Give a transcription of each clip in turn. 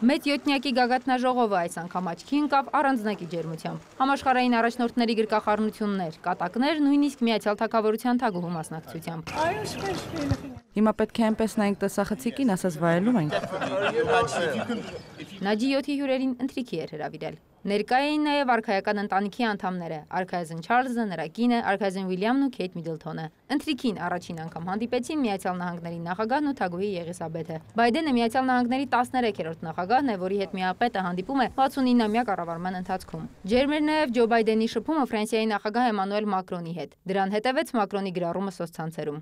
Մեծ յոթնյակի գագաթնաժողովը այս անգամ աչքի ընկավ առանձնակի ջերմությամբ։ Համաշխարհային առաջնորդների գրկախառնություններ, կատակներ, նույնիսկ Միացյալ Թագավորության թագուհու մասնակցությամբ։ Հիմա պետք է այնպես նայենք տեսախցիկին, ասես վայելում ենք։ Նա G7-ի հյուրերին ընթրիքի էր հրավիրել։ Ներկա էին նաև արքայական ընտանիքի անդամները՝ արքայազն Չարլզը, նրա կինը, արքայազն Ուիլյամն ու Քեյթ Միդլթոնը։ Ընթրիքին առաջին անգամ հանդիպեցին Միացյալ Նահանգների նախագահն ու թագուհի Եղիսաբեթը։ Բայդենը Միացյալ Նահանգների 13-րդ նախագահն է, որի հետ միապետը հանդիպում է 69-ամյա կառավարման ընթացքում։ Ջերմ էր նաև Ջո Բայդենի շփումը Ֆրանսիայի նախագահ Էմանուել Մակրոնի հետ։ Դրան հետևեց Մակրոնի գրառումը սոցցանցերում։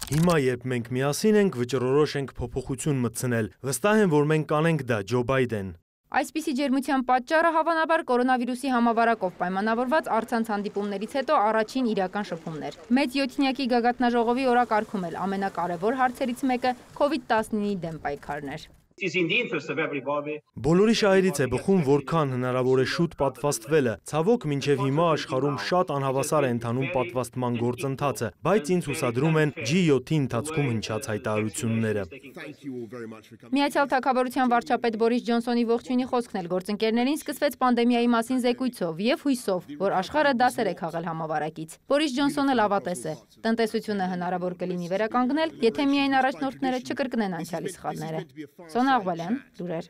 Հիմա, երբ մենք միասին ենք, վճռորոշ ենք փոփոխություն մտցնել։ Վստահ եմ, որ մենք կանենք դա, Ջո Բայդեն։ Այսպիսի ջերմության պատճառը հավանաբար կորոնավիրուսի համավարակով պայմանավորված առցանց հանդիպումներից հետո առաջին իրական շփումն էր։ Մեծ յոթնյակի գագաթնաժողովի օրակարգում էլ ամենակարևոր հարցերից մեկը COVID-19-ի դեմ պայքարն էր։ Բոլորի շահերից է բխում, որքան հնարավոր է շուտ պատվաստվելը։ Ցավոք, մինչև հիմա աշխարհում շատ անհավասար է ընթանում պատվաստման գործընթացը, բայց ինձ հուսադրում են G7-ի ընթացքում հնչած հայտարարությունները։ Միացյալ Թագավորության վարչապետ Բորիս Ջոնսոնի ողջույնի խոսքն էլ գործընկերներին սկսվեց պանդեմիայի մասին զեկույցով եւ հույսով, որ աշխարհը դասեր է քաղել համավարակից։ Բորիս Ջոնսոնը լավատես է։ Տնտեսությունը հնարավոր կլինի վերականգնել, եթե միայն առաջնորդները չկրկնեն անցյալի սխալները։ Սոնա Աղբալյան, լուրեր։